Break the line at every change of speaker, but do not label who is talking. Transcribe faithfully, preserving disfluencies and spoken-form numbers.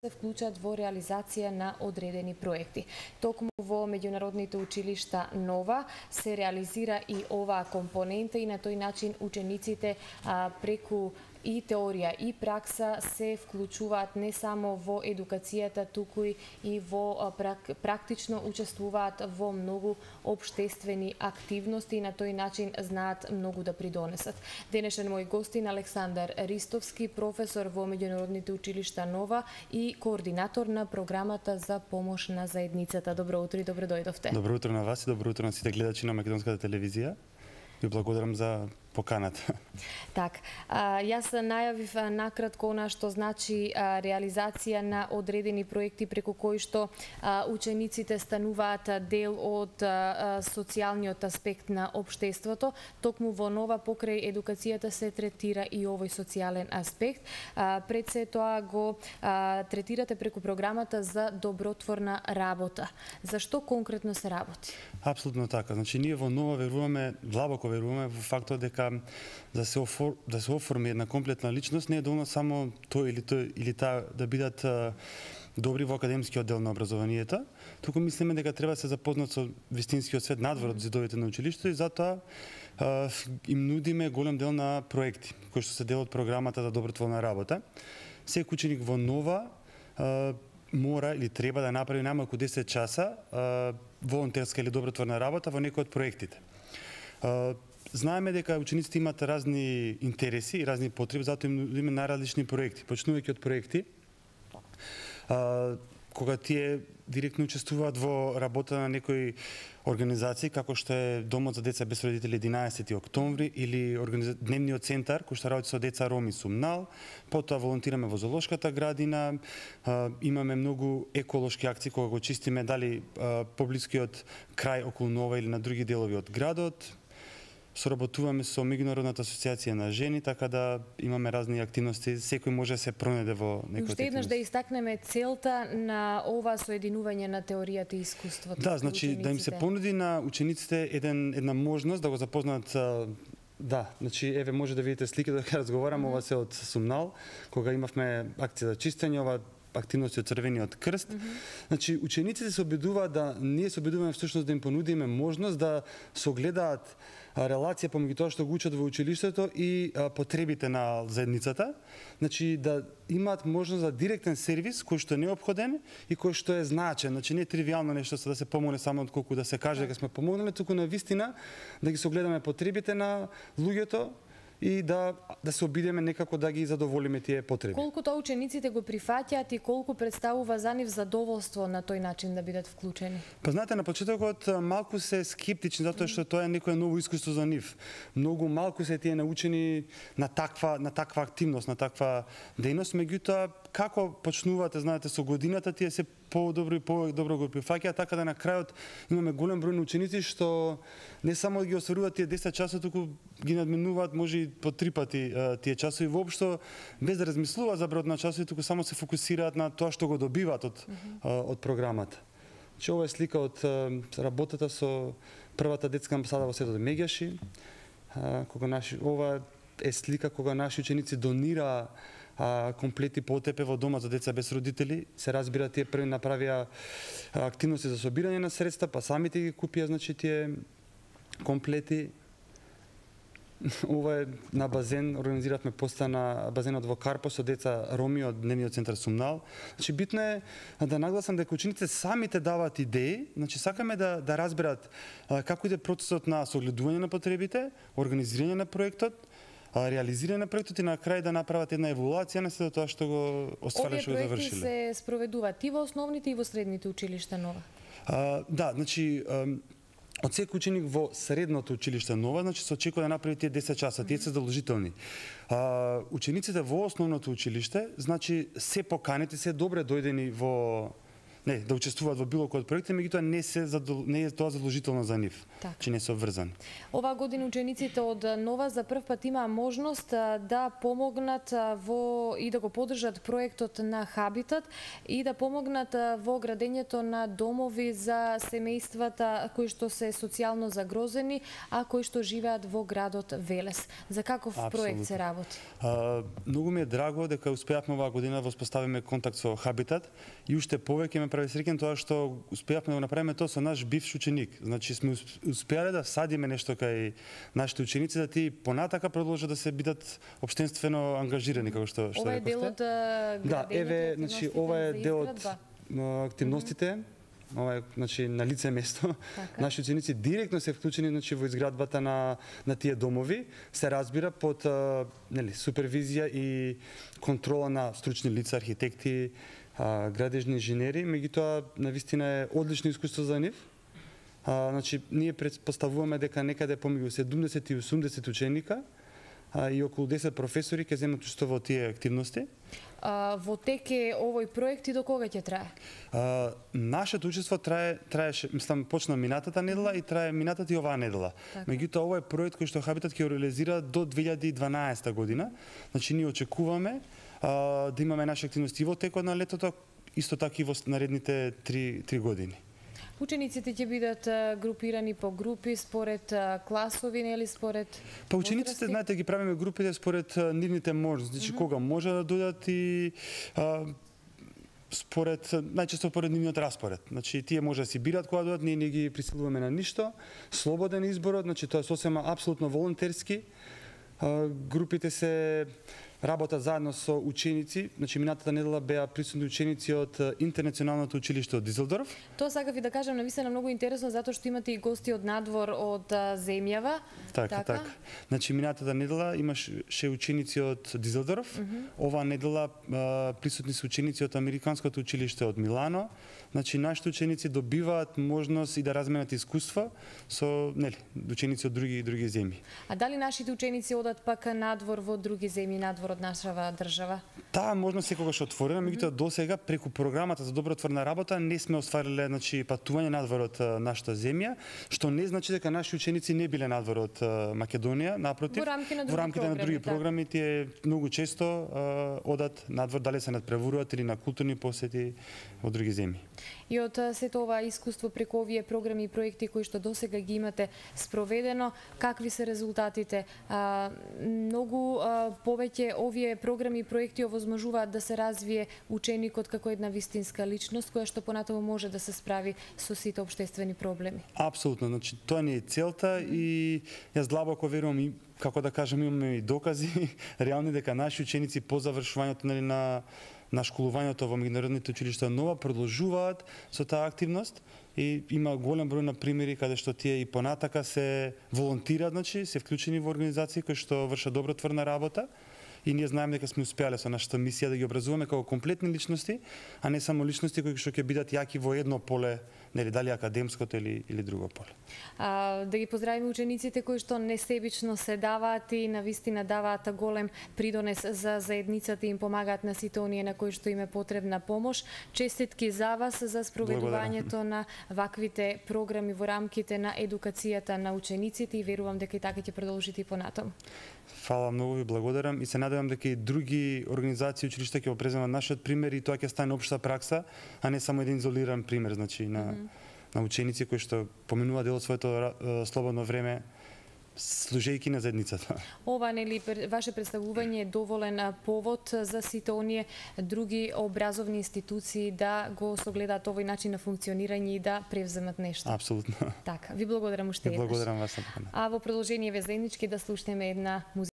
се вклучат во реализација на одредени проекти. Токму во меѓународните училишта Нова се реализира и оваа компонента и на тој начин учениците а, преку и теорија и пракса се вклучуваат не само во едукацијата, туку и во прак, практично учествуваат во многу општествени активности и на тој начин знаат многу да придонесат. Денешен мој гостин Александар Ристовски, професор во меѓународните училишта Нова и координатор на програмата за помош на заедницата. Добро утро и добро дојдовте.
Добро утро на вас и добро утро на сите гледачи на Македонската телевизија. Ви благодарам за поканата.
Так, а, јас најавив а, накратко она што значи а, реализација на одредени проекти преку кои што а, учениците стануваат дел од а, социјалниот аспект на општеството. Токму во Нова покрај едукацијата се третира и овој социјален аспект. А, пред се тоа го а, третирате преку програмата за добротворна работа. Зашто конкретно се работи?
Апсолутно така. Значи ние во Нова веруваме, длабоко веруваме во фактот дека да се офор, да се оформи една комплетна личност не е доволно само тој или тој или таа да бидат а, добри во академскиот дел на образованието, туку мислиме дека треба да се запознат со вистинскиот свет надвор од зидовите на училиштето и затоа а, им нудиме голем дел на проекти кои што се дел од програмата за добротворна работа. Секој ученик во Нова а, мора или треба да направи најмалку десет часа а, волонтерска или добротворна работа во некој од проектите. А, Знаеме дека учениците имаат разни интереси и разни потреби, затоа им нудиме најразлични проекти. Почнувајќи од проекти, а, кога тие директно учествуваат во работа на некои организации, како што е Домот за деца без родители единаесети октомври или организа... Дневниот центар, кој што работи со деца роми Сумнал, потоа волонтираме во зоолошката градина, а, имаме многу еколошки акции кога го чистиме дали а, поблискиот крај околу Нова или на други делови од градот. Соработуваме со Меѓународната асоциација на жени, така да имаме разни активности, секој може да се пронајде во некој.
Уште еднаш да истакнеме целта на ова соединување на теоријата и искуството.
Да, значи да им се понуди на учениците еден една можност да го запознаат. Да, значи еве може да видите слика дека разговараме, ова се од Сумнал, кога имавме акција за чистење, ова активности од Црвениот крст. Mm -hmm. Значи учениците се обидуваат да ние се обидуваме всушност да им понудиме можност да согледаат релација помеѓу тоа што го учат во училиштето и а, потребите на заедницата. Значи да имаат можност за директен сервис кој што е неопходен и кој што е значен. Значи не е тривијално нешто за да се помогне само отколку да се каже дека сме помогнале, туку на вистина да ги согледаме потребите на луѓето и да да се обидеме некако да ги задоволиме тие потреби.
Колку тоа учениците го прифаќаат и колку представува за нив задоволство на тој начин да бидат вклучени?
Па знаете, на почетокот малку се скептични затоа што тоа е некое ново искуство за нив. Многу малку се тие научени на таква на таква активност, на таква дејност, меѓутоа како почнувате, знаете, со годината тие се по-добро и по-добро го прифаќаат, така да на крајот имаме голем број на ученици што не само ги осваруваат тие десет часа, туку ги надминуваат може и по три пати а, тие часови воопшто без да размислуваат за бројот на часови, туку само се фокусираат на тоа што го добиваат од mm -hmm. а, од програмата. Че ова е слика од а, работата со првата детска амбасада во селото Меѓаши, а, кога наши ова е слика кога наши ученици донира а, комплети потепе во Дома за деца без родители. Се разбира, тие први направија активности за собирање на средства, па самите ги купија, значи, тие комплети. Ова е на базен, организиравме поста на базенот во Карпо со деца роми од Дневниот центар Сумнал. Значи битно е да нагласам дека учениците самите даваат идеи, значи сакаме да да разберат а, како иде процесот на согледување на потребите, организирање на проектот, реализирање на проектот и на крај да направат една еволуација на се до тоа што го оствариле, што го завршиле.
Овие проекти се спроведуваат и во основните и во средните училишта Нова?
А, да, значи од секој ученик во средното училиште Нова, значи се очекува да направи тие десет часа, тие се задолжителни. А, учениците во основното училиште, значи се поканети, се добре дојдени во не, да учествуваат во било кој од проекти, меѓутоа не се задол... не е тоа задолжително за нив,
так.
че не се обврзани.
Оваа година учениците од Нова за прв пат имаа можност да помогнат во и да го поддржат проектот на Хабитат и да помогнат во градењето на домови за семејствата кои што се социјално загрозени, а кои што живеат во градот Велес. За каков Абсолютно. проект се работи?
А, многу ми е драго дека успеавме оваа година да воспоставиме контакт со Хабитат и уште повеќе ме прави среќен тоа што успеавме да го направиме тоа со наш бивш ученик. Значи сме успеале да садиме нешто кај нашите ученици да ти понатака продолжат да се бидат општествено ангажирани како што што
Ова е дел од градењето.
Да, еве, значи ова е дел од активностите. Mm -hmm. Ова е, значи, на лице место. Така. Наши ученици директно се вклучени, значи, во изградбата на на тие домови, се разбира под а, нели, супервизија и контрола на стручни лица, архитекти, а, градежни инженери, меѓутоа навистина е одлично искуство за нив. А, значи, ние претпоставуваме дека некаде помеѓу седумдесет и осумдесет ученика а, и околу десет професори ќе земат учество во тие активности.
А, во тек е овој проект и до кога ќе трае?
А, нашето учество трае, траеше, мислам, почна минатата недела и трае минатата и оваа недела. Така. Меѓутоа, овој проект кој што Хабитат ќе реализира до две илјади и дванаесета година. Значи, ние очекуваме а, да имаме наши активности и во текот на летото, исто така и во наредните три, три години.
Учениците ќе бидат групирани по групи според класови, нели според
Па учениците, возрасти? Знаете, ги правиме групите според нивните можности, значи mm -hmm. кога може да дојдат и а, според најчесто според нивниот распоред. Значи тие може да си бират кога дојдат, ние не ги присилуваме на ништо. Слободен изборот, значи тоа е сосема апсолутно волонтерски. А, групите се работат заедно со ученици, значи минатата недела беа присутни ученици од Интернационалното училиште од Дизелдорф.
Тоа сакав и да кажам, навистина многу интересно затоа што имате и гости од надвор од земјава.
Така, така. така. Значи минатата недела имаше ученици од Дизелдорф. Mm -hmm. Оваа недела а, присутни се ученици од Американското училиште од Милано. Значи нашите ученици добиваат можност и да разменат искуства со нели ученици од други други земји.
А дали нашите ученици одат пак надвор во други земји, надвор од нашава држава?
Таа можност секогаш отворена, меѓутоа mm -hmm. досега преку програмата за добротворна работа не сме оствариле, значи, патување надвор од нашата земја, што не значи дека наши ученици не биле надвор од Македонија, напротив.
Во рамките на други,
во рамките
програми,
на други
да.
програми тие многу често uh, одат надвор, дали се надпреваруваат или на културни посети во други земји.
И од сето ова искуство преку овие програми и проекти кои што досега ги имате спроведено, какви се резултатите? А, многу а, повеќе овие програми и проекти овозможуваат да се развие ученикот како една вистинска личност која што понатаму може да се справи со сите општествени проблеми.
Апсолутно, значи тоа не е целта и јас длабоко верувам и како да кажам имаме и докази реални дека наши ученици по завршувањето нели на на школувањето во меѓународните училишта Нова продолжуваат со таа активност и има голем број на примери каде што тие и понатака се волонтираат, значи се вклучени во организации кои што вршат добротворна работа. И ние знаеме дека сме успеале со нашата мисија да ги образуваме како комплетни личности, а не само личности кои што ќе бидат јаки во едно поле, нели дали академското или или друго поле.
А, да ги поздравиме учениците кои што несебично се даваат и навистина даваат голем придонес за заедницата и им помагаат на сите оние на кои што им е потребна помош. Честитки за вас за спроведувањето на ваквите програми во рамките на едукацијата на учениците и верувам дека и така ќе продолжите и понатаму.
Фала многу, ви благодарам и се надевам дека и други организации и училишта ќе го преземат нашиот пример и тоа ќе стане општа пракса, а не само еден изолиран пример, значи на mm -hmm. на ученици кои што поминуваат дел од своето слободно време служејќи на заедницата.
Ова нели ваше представување е доволен повод за сите оние други образовни институции да го согледаат овој начин на функционирање и да превземат нешто.
Апсолутно.
Така, ви благодарам уште еднаш.
Благодарам вас.
А во продолжение ве заеднички да слушнеме една музика.